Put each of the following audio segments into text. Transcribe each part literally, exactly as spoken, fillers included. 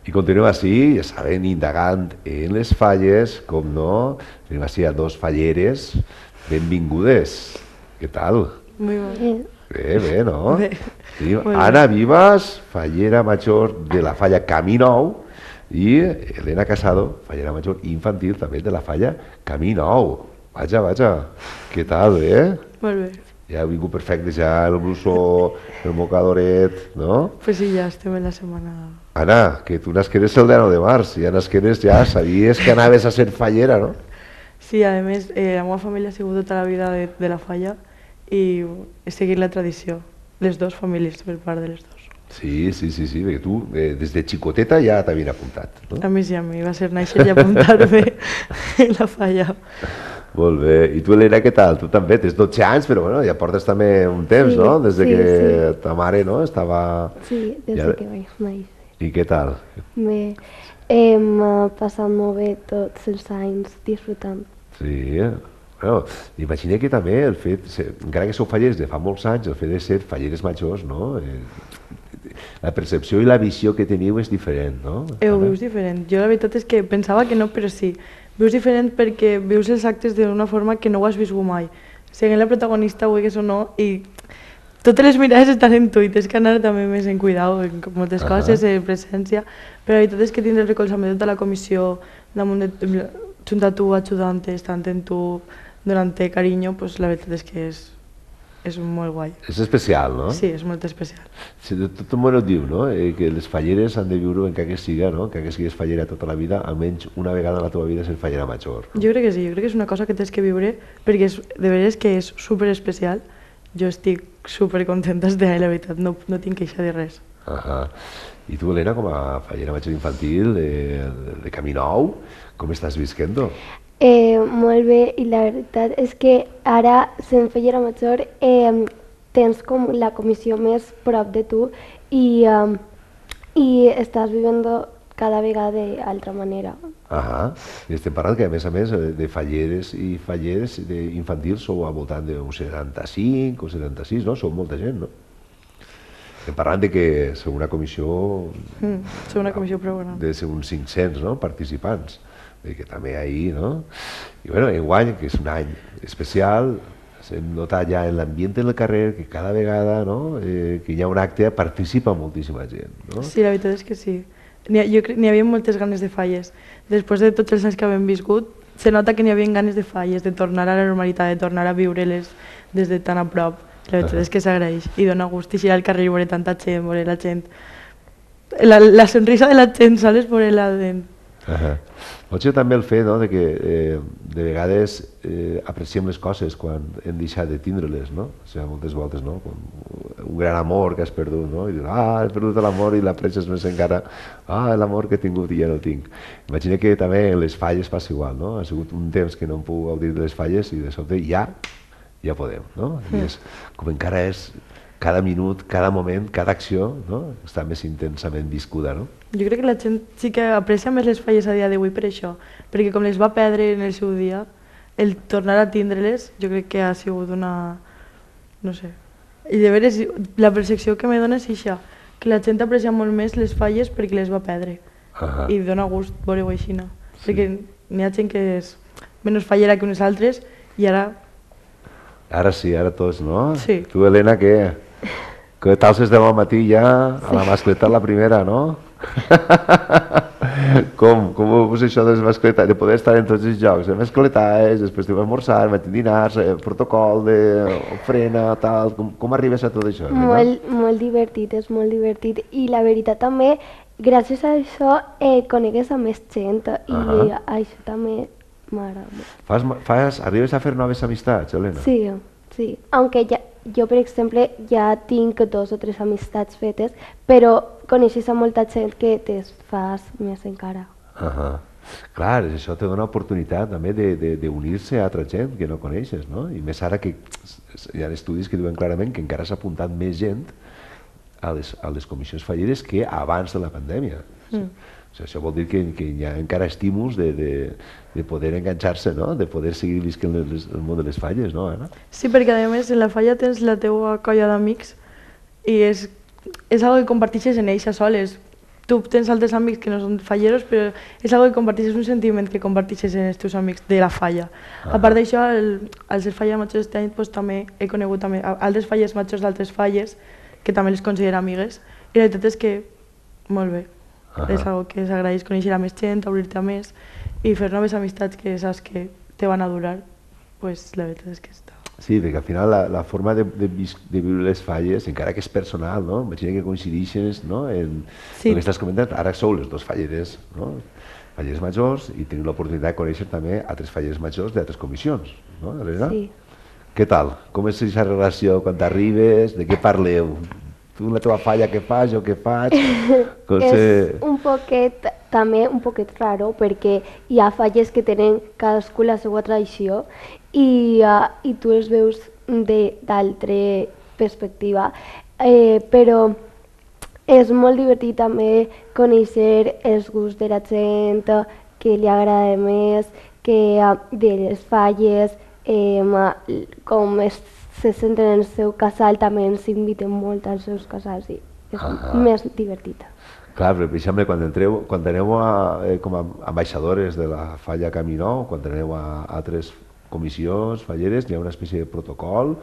I continuem així, ja saben, indagant en les falles, com no, tenim així a dos falleres, benvingudes. Què tal? Muy bien. Bé, bé, no? Bé. Tenim Molt bé. Anna Vivas, fallera major de la falla Camí Nou, i Elena Casado, fallera major infantil també de la falla Camí Nou. Vaja, vaja, què tal, eh? Molt bé. Ja heu vingut perfecte, ja el blusó, el mocadoret, no? Pues sí, ja estem en la setmana... Anna, que tu nasqueres el deu de març, ja nasqueres, ja sabies que anaves a ser fallera, no? Sí, a més, eh, la meva família ha sigut tota la vida de, de la falla i he seguit la tradició. Les dues famílies, per part de les dues. Sí, sí, sí, sí, perquè tu eh, des de xicoteta ja t'havien apuntat, no? A mi sí, a mi va ser néixer i apuntar-me en la falla. Molt bé. I tu, Elena, què tal? Tu també tens dotze anys, però bueno, ja portes també un temps, Sí, no? Des de sí, que sí. ta mare, no?, estava... Sí, des Ja- de que vaig néixer. I què tal? Bé, hem eh, passat molt bé tots els anys disfrutant. Sí, eh? Bueno, imagina que també el fet, se- encara que sou fallers de fa molts anys, el fet de ser falleres majors, no? Eh, la percepció i la visió que teniu és diferent, no? Eh, ho Anna? vius diferent. Jo la veritat és que pensava que no, però sí. Vius diferent perquè vius els actes d'una forma que no ho has viscut mai. Sent la protagonista, vulguis o no, i totes les mirades estan en tu i tens que anar també més en cuidado en moltes Ahà. coses, en presència, però la veritat és que tindre el recolzament de tota la comissió, damunt de, junt a tu, ajudant-te, estant en tu, donant-te carinyo, pues la veritat és que és, és molt guai. És especial, no? Sí, és molt especial. Sí, de tot el món ho diu, no? Eh, que les falleres han de viure encara que siga, no? Encara que siguis fallera tota la vida, almenys una vegada en la teva vida ser fallera major. Jo crec que sí, jo crec que és una cosa que tens que viure perquè és, de veres que és super especial. Jo estic super contenta de la veritat, no, no tinc queixa de res. Ahà. I tu, Elena, com a fallera major infantil de, de, de Camí Nou, com estàs visquent-ho? Eh, molt bé, i la veritat és que ara, sent fallera major, eh, tens com la comissió més prop de tu i, eh, i estàs vivint cada vegada d'altra manera. Ahà. I estem parlant que, a més a més, eh, de falleres i falleres de infantils sou al voltant d'un setanta-cinc o setanta-sis, no? Sou molta gent, no? Estem parlant de que sou una comissió Mm, som una comissió prou gran. de ser uns cinc-cents, no?, participants. Vull dir que també ahir, no? I bueno, enguany, que és un any especial, hem notat ja en l'ambient del carrer que cada vegada, no?, eh, que hi ha un acte participa moltíssima gent, no? Sí, la veritat és que sí. N'hi ha, jo crec- n'hi havia moltes ganes de falles. Després de tots els anys que hem viscut, se nota que n'hi havia ganes de falles, de tornar a la normalitat, de tornar a viure-les des de tan a prop. La veritat és que s'agraeix i dona gust eixir al carrer i veure tanta gent, veure la gent... La, la sonrisa de la gent, saps? Veure la gent. Uh-huh. Potser també el fet, no?, de que eh, de vegades eh, apreciem les coses quan hem deixat de tindre-les, no? O sigui, moltes voltes, no? Com un gran amor que has perdut, no? I dius, ah, he perdut l'amor i l'aprecies més encara, ah, l'amor que he tingut i ja no el tinc. Imagina que també en les falles passa igual, no? Ha sigut un temps que no em puc gaudir de les falles i de sobte ja, ja podem, no? I és com encara és cada minut, cada moment, cada acció, no?, està més intensament viscuda, no? Jo crec que la gent sí que aprecia més les falles a dia d'avui per això, perquè com les va perdre en el seu dia, el tornar a tindre-les jo crec que ha sigut una... no sé. I de veres, la percepció que me dona és això, que la gent aprecia molt més les falles perquè les va perdre. Ahà. I dona gust veure-ho així, no? Perquè n'hi ha gent que és menys fallera que unes altres i ara... Ara sí, ara tots, no? Sí. Tu, Helena, què? Que t'alces demà al matí ja a la mascleta la primera, no? com, com és això de les mascletes? De poder estar en tots els jocs, de mascletes, després de esmorzar, matí dinars, eh, protocol de ofrena, tal... Com, com arribes a tot això, Helena? Molt, molt divertit, és molt divertit. I la veritat també, gràcies a això, eh, conegues a més gent i Ahà. això també m'agrada molt. Fas, fas, arribes a fer noves amistats, Helena? Sí, sí. Aunque ja, jo, per exemple, ja tinc dos o tres amistats fetes, però coneixes a molta gent que te'n fas més encara. Ahà. Clar, això te dona oportunitat també de- de- d'unir-se a altra gent que no coneixes, no? I més ara que hi ha estudis que diuen clarament que encara s'ha apuntat més gent a les, a les comissions falleres que abans de la pandèmia. Mm. O sigui, això vol dir que, que hi ha encara estímuls de, de, de poder enganxar-se, no? De poder seguir visquent les, el món de les falles, no, Anna? Sí, perquè a més en la falla tens la teua colla d'amics i és, és algo que comparteixes en ells a soles. tu tens altres amics que no són falleros, però és algo que comparteixes, un sentiment que comparteixes en els teus amics de la falla. Ah. A part d'això, el, al ser falla major este any, pues, també he conegut també altres falles majors d'altres falles, que també les considero amigues, i la veritat és que molt bé. Ah. És algo que s'agraeix conèixer a més gent, obrir-te a més, i fer noves amistats que saps que te van a durar, pues la veritat és que està. Sí, perquè al final la, la forma de, de, de viure les falles, encara que és personal, no? Imagina que coincideixes, no? En Sí. el que estàs comentant, ara sou les dos falleres, no? Falleres majors, i teniu l'oportunitat de conèixer també altres falleres majors d'altres comissions, no, Helena? Sí. Què tal? Com és aquesta relació quan t'arribes? De què parleu? Tu la teva falla què fas, jo què faig? Com És se... un poquet, també un poquet raro, perquè hi ha falles que tenen cadascú la seva tradició i, uh, i tu els veus d'altra perspectiva, eh, però és molt divertit també conèixer els gusts de la gent, que li agrada més, que uh, de les falles, eh, com es, se senten en el seu casal, també ens inviten molt als seus casals i és Ah. més divertit. Clar, però per exemple, quan, entreu, quan aneu a, eh, com a ambaixadores de la falla Caminó, quan aneu a altres comissions falleres, hi ha una espècie de protocol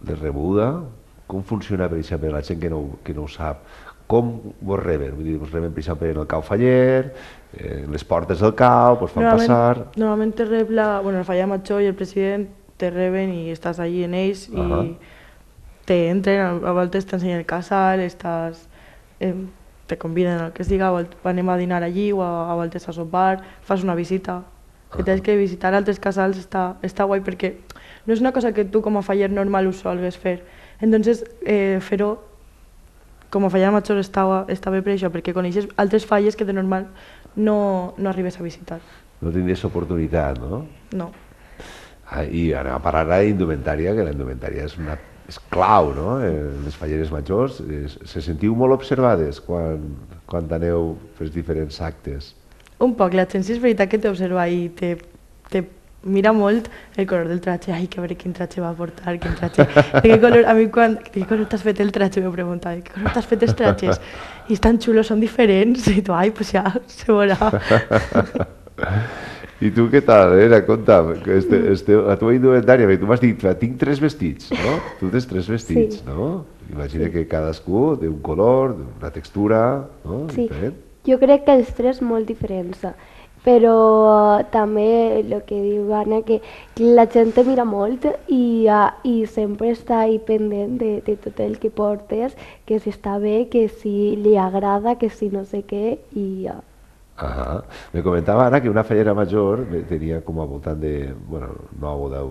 de rebuda. Com funciona, per exemple, la gent que no, que no ho sap? Com vos reben? Vull dir, vos reben, per exemple, en el cau faller, eh, en les portes del cau, vos fan Normalment, passar... normalment te rep la, bueno, la falla major i el president te reben i estàs allí en ells i Ahà. te entren, a a voltes t'ensenyen el casal, estàs, eh, te conviden al que es diga, a voltes anem a dinar allí o a, a voltes a sopar, fas una visita. Que tens que visitar altres casals està, està guai perquè no és una cosa que tu com a faller normal ho solgues fer. Entonces, eh, fer-ho com a faller major està, està bé per això, perquè coneixes altres falles que de normal no, no arribes a visitar. No tindries oportunitat, no? No. Ah, I anem a parlar ara d'indumentària, que la indumentària és, una, és clau, no? En les falleres majors. Es, se sentiu molt observades quan, quan aneu per diferents actes? Un poc, la gent sí és veritat que t'observa i te, te mira molt el color del tratge. Ai, que a veure quin tratge va portar, quin tratge... De què color, a mi quan... De què color t'has fet el tratge? M'ho preguntava. De què color t'has fet els tratges? I estan xulos, són diferents. I tu, ai, pues ja, se veurà. I tu què tal, Elena? Conta'm, que este, este, la teva indumentària, perquè tu m'has dit, tinc tres vestits, no? Tu tens tres vestits, Sí. no? Imagina que cadascú té un color, una textura, no? Sí, Diferent. jo crec que els tres molt diferents, però també el que diu Anna, que la gent te mira molt i, uh, i sempre està ahí pendent de, de tot el que portes, que si està bé, que si li agrada, que si no sé què, i uh, Ahà. Me comentava ara que una fallera major tenia com a voltant de, bueno, nou o deu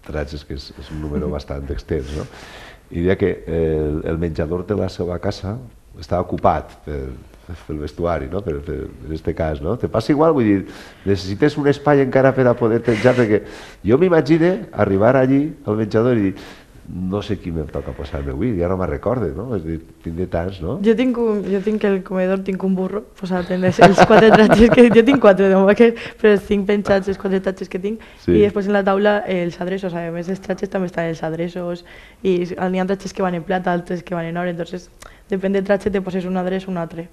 tratges, que és, és un número bastant extens, no? I deia que el, el menjador de la seva casa estava ocupat per, pel vestuari, no? Per, per, en este cas, no? Te passa igual? Vull dir, necessites un espai encara per a poder menjar, perquè jo m'imagine arribar allí al menjador i dir, no sé qui em toca posar-me avui, ja no me'n recorde, no? És a dir, tindré tants, no? Jo tinc, un, jo tinc el comedor, tinc un burro posat en els, els quatre tratges que... Jo tinc quatre, no? Que, però els tinc penjats, els quatre tratges que tinc. Sí. I després en la taula els adreços, a més els tratges també estan els adreços. I n'hi ha tratges que van en plata, altres que van en or, entonces depèn del tratge te poses un adreç o un altre.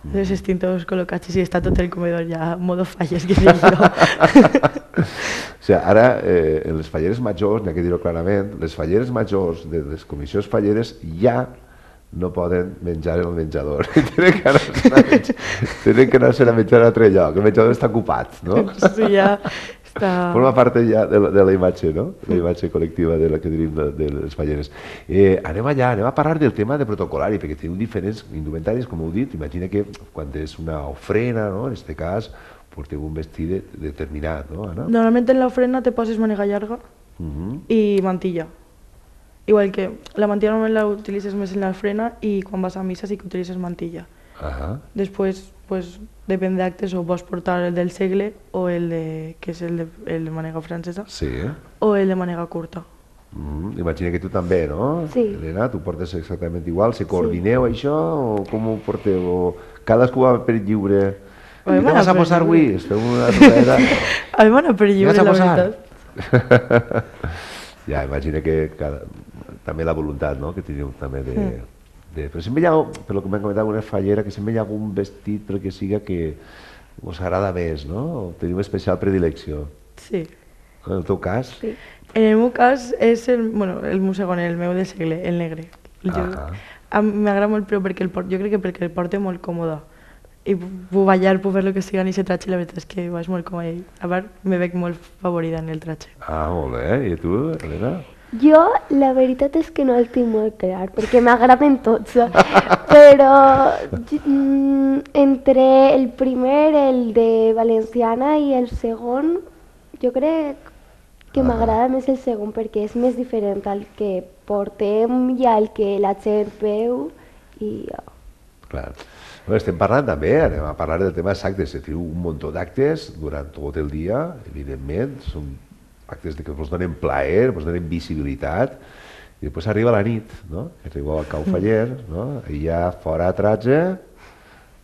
Entonces estic tots col·locats i està tot el comedor ja modo falles, que dic jo. O sigui, ara, eh, en les falleres majors, n'hi ha que dir-ho clarament, les falleres majors de les comissions falleres ja no poden menjar en el menjador. Tenen que anar-se a menjar, tenen que anar-se a menjar a altre lloc. El menjador està ocupat, no? Sí, ja està... Forma part ja de la, de la imatge, no? La imatge col·lectiva de la que tenim de, de les falleres. Eh, anem allà, anem a parlar del tema de protocolari, perquè teniu diferents indumentaris, com heu dit. Imagina que quan és una ofrena, no? En aquest cas, porteu un vestit de, determinat, no, Anna? Normalment en l'ofrena te poses mànega llarga Uh -huh. i mantilla. Igual que la mantilla normalment la utilitzes més en l'ofrena i quan vas a missa sí que utilitzes mantilla. Ahà. Després, pues, depèn d'actes, o pots portar el del segle o el de, que és el de, el de mànega francesa, Sí, eh? o el de mànega curta. Mm, imagina que tu també, no? Sí. Helena, tu portes exactament igual. Se coordineu sí. això o com ho porteu? O cadascú va per lliure? A mi I m'ha què vas a per posar lliure. avui? Es feu una rotera? A mi m'han per lliure, Vas a la posar? veritat. Ja, imagina que cada, també la voluntat, no?, que teniu també de, Mm. de... Però sempre hi ha, per lo que m'han comentat una fallera, que sempre hi ha algun vestit pel que siga que us agrada més, no? O teniu especial predilecció. Sí. En el teu cas? Sí. En el meu cas és el, bueno, el meu segon, el meu de segle, el negre. Jo, Ah. m'agrada molt, però perquè el port, jo crec que perquè el porto molt còmode. I puc ballar, puc fer el que siga en aquest tratge, la veritat és que vaig molt còmode. A part, me veig molt favorida en el tratge. Ah, molt bé. I tu, Helena? Jo, la veritat és que no el tinc molt clar, perquè m'agraden tots, però mm, entre el primer, el de Valenciana, i el segon, jo crec que m'agrada més el segon, perquè és més diferent al que portem i al que la gent veu. I... Clar. Bueno, estem parlant també, anem a parlar del tema dels actes. Teniu un munt d'actes durant tot el dia, evidentment, són actes que us donen plaer, us donen visibilitat, i després arriba la nit, no? Arribeu al Cau Faller, no? I ja fora a tratge,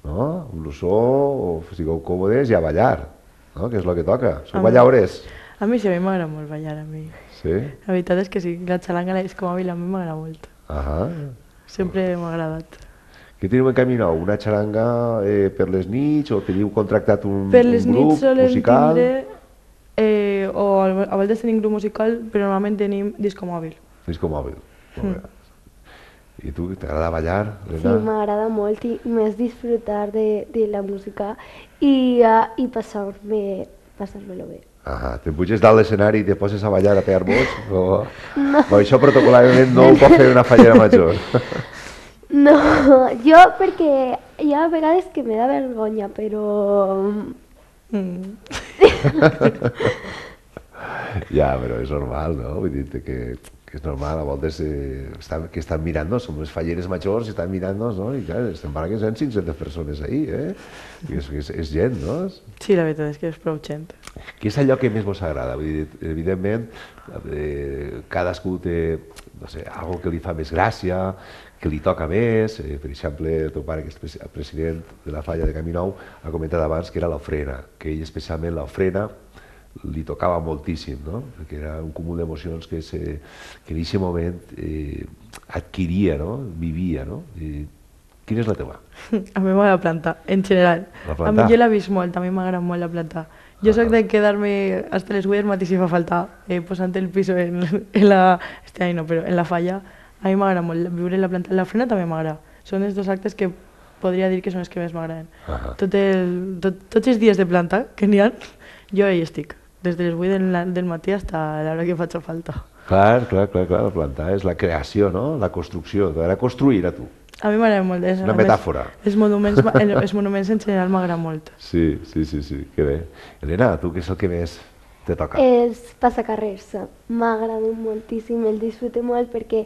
no? Un lussó, o sigueu còmodes i a ballar, no? Que és el que toca. Sou ballaures? A mi sí, a mi m'agrada molt ballar, a mi. Sí? La veritat és que sí, la xalanga és com a mi, a mi m'agrada molt. Ahà. Sempre m'ha agradat. Què teniu en camí nou? Una xaranga eh, per les nits o teniu contractat un, per les un grup nits solem musical? tindre, eh, o a vegades tenim grup musical, però normalment tenim disco mòbil. Disco mòbil. Molt bé. I tu, t'agrada ballar, Sí, Helena? m'agrada molt i més disfrutar de, de la música i, uh, i passar-me passar-me-lo bé. Ah, te'n puges dalt l'escenari i te poses a ballar a pegar mots? O... no. O això protocolàriament no ho pot fer una fallera major. No, jo perquè hi ha vegades que me da vergonya, però... Mm. Ja, però és normal, no? Vull dir que, que és normal, a voltes eh, estan, que estan mirant-nos, som les falleres majors i estan mirant-nos, no? I clar, estem parlant que són cinc-centes persones ahí, eh? I és, és, és gent, no? Sí, la veritat és que és prou gent. Què és allò que més vos agrada? Vull dir, evidentment, eh, cadascú té, no sé, algo que li fa més gràcia, que li toca més. Eh, per exemple, el teu pare, que és el president de la falla de Camí Nou, ha comentat abans que era l'ofrena, que ell especialment l'ofrena li tocava moltíssim, no? Perquè era un cúmul d'emocions que, se, que en aquest moment eh, adquiria, no? Vivia, no? I, quina és la teva? A mi m'agrada plantar, en general. La A plantar? mi jo l'he vist molt, a mi m'agrada molt la plantar. Jo soc de quedar-me hasta les vuit del matí si fa falta, eh, posant el piso en, en la... Este any no, però en la falla. A mi m'agrada molt viure la planta. La frena també m'agrada. Són els dos actes que podria dir que són els que més m'agraden. Ah. Tot el, tot, tots els dies de planta que n'hi ha, jo hi estic. Des de les vuit del, del matí fins a l'hora que faig falta. Clar, clar, clar, clar, la plantar és la creació, no? La construcció, t'agrada construir a tu. A mi m'agrada molt. És, Una a més, metàfora. Els monuments, els monuments en general m'agraden molt. Sí, sí, sí, sí, que bé. Helena, tu què és el que més te toca? Els passacarrers m'agraden moltíssim, el disfrute molt perquè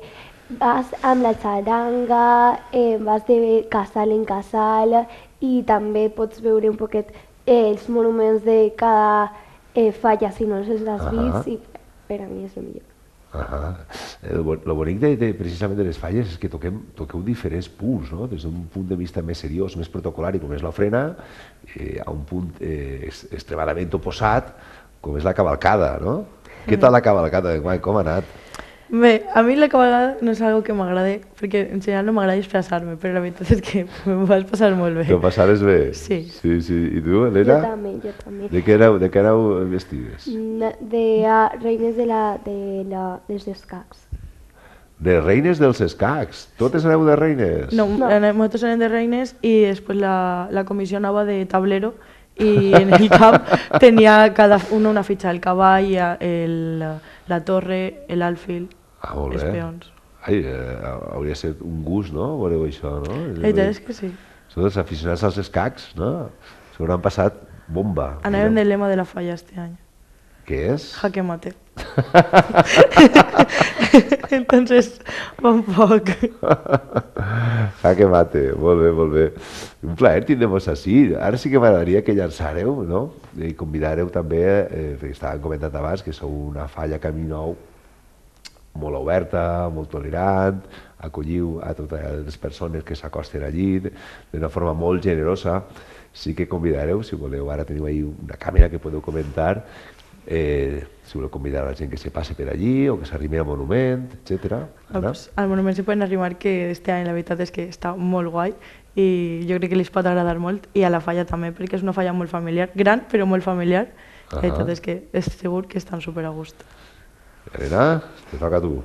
vas amb la xaranga, eh, vas de casal en casal i també pots veure un poquet eh, els monuments de cada eh, falla si no els has Ahà. vist i per a mi és el millor. Ah, el, bo- lo bonic de, de, precisament de les falles és que toquem, toqueu diferents punts, no? Des d'un punt de vista més seriós, més protocolari, com és l'ofrena, eh, a un punt eh, es- extremadament oposat, com és la cavalcada, no? Què tal la cavalcada, Guai, com ha anat? Bé, a mi la cabalgada no és algo que m'agradi, perquè en general no m'agrada disfressar-me, però la veritat és que m'ho vas passar molt bé. T'ho passaves bé? Sí. Sí, sí. I tu, Jo Helena? també, jo també. De què aneu, de què aneu vestides? Na- De uh, reines de, la, de la, dels escacs. De reines dels escacs. Totes aneu de reines? No, No. anem- nosaltres anem de reines i després la, la comissió anava de tablero i en el camp tenia cada una una fitxa, el cavall, el, la torre, l'alfil, Ah, molt els bé. peons. Ai, eh, hauria de ser un gust, no? Veureu això, no? La veritat és que sí. Són els aficionats als escacs, no? Se n'han passat bomba. Anàvem diguem. del lema de la falla este any. Què és? Jaque mate. Entonces, un poc. Jaque mate, molt bé, molt bé. Un plaer tindre-vos així. Ara sí que m'agradaria que llançareu, no? I convidareu també, eh, perquè estàvem comentant abans, que sou una falla Camí Nou molt oberta, molt tolerant, acolliu a totes les persones que s'acosten allí d'una forma molt generosa. Sí que convidareu, si voleu, ara teniu ahí una càmera que podeu comentar, Eh, si voleu convidar a la gent que se passe per allí o que s'arrimi al monument, etcètera. Ah, pues, al monument s'hi poden arrimar, que este any la veritat és que està molt guai i jo crec que li pot agradar molt, i a la falla també, perquè és una falla molt familiar, gran però molt familiar. La veritat és que és segur que estan super a gust. Elena, te toca a tu.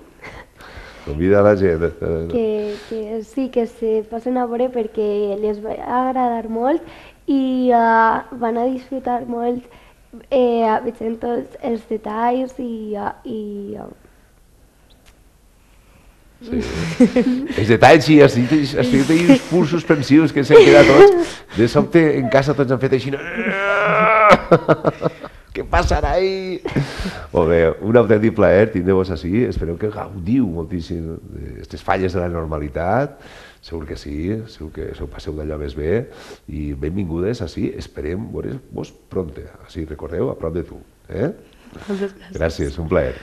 Convida a la gent. Que, que sí, que se passen a veure perquè les va agradar molt i uh, van a disfrutar molt eh, veient tots els detalls i... Uh, i uh, Sí. Els detalls, sí, has dit, has dit uns punts suspensius que s'han quedat tots. De sobte, en casa tots han fet així... Què passarà ahí? Molt bé, un autèntic plaer tindre-vos així. Espereu que gaudiu moltíssim d'aquestes falles de la normalitat. Segur que sí, segur que us passeu d'allò més bé. I benvingudes així, esperem veure-vos pronte. Així, recordeu, a prop de tu. Eh? Moltes gràcies. Gràcies, un plaer.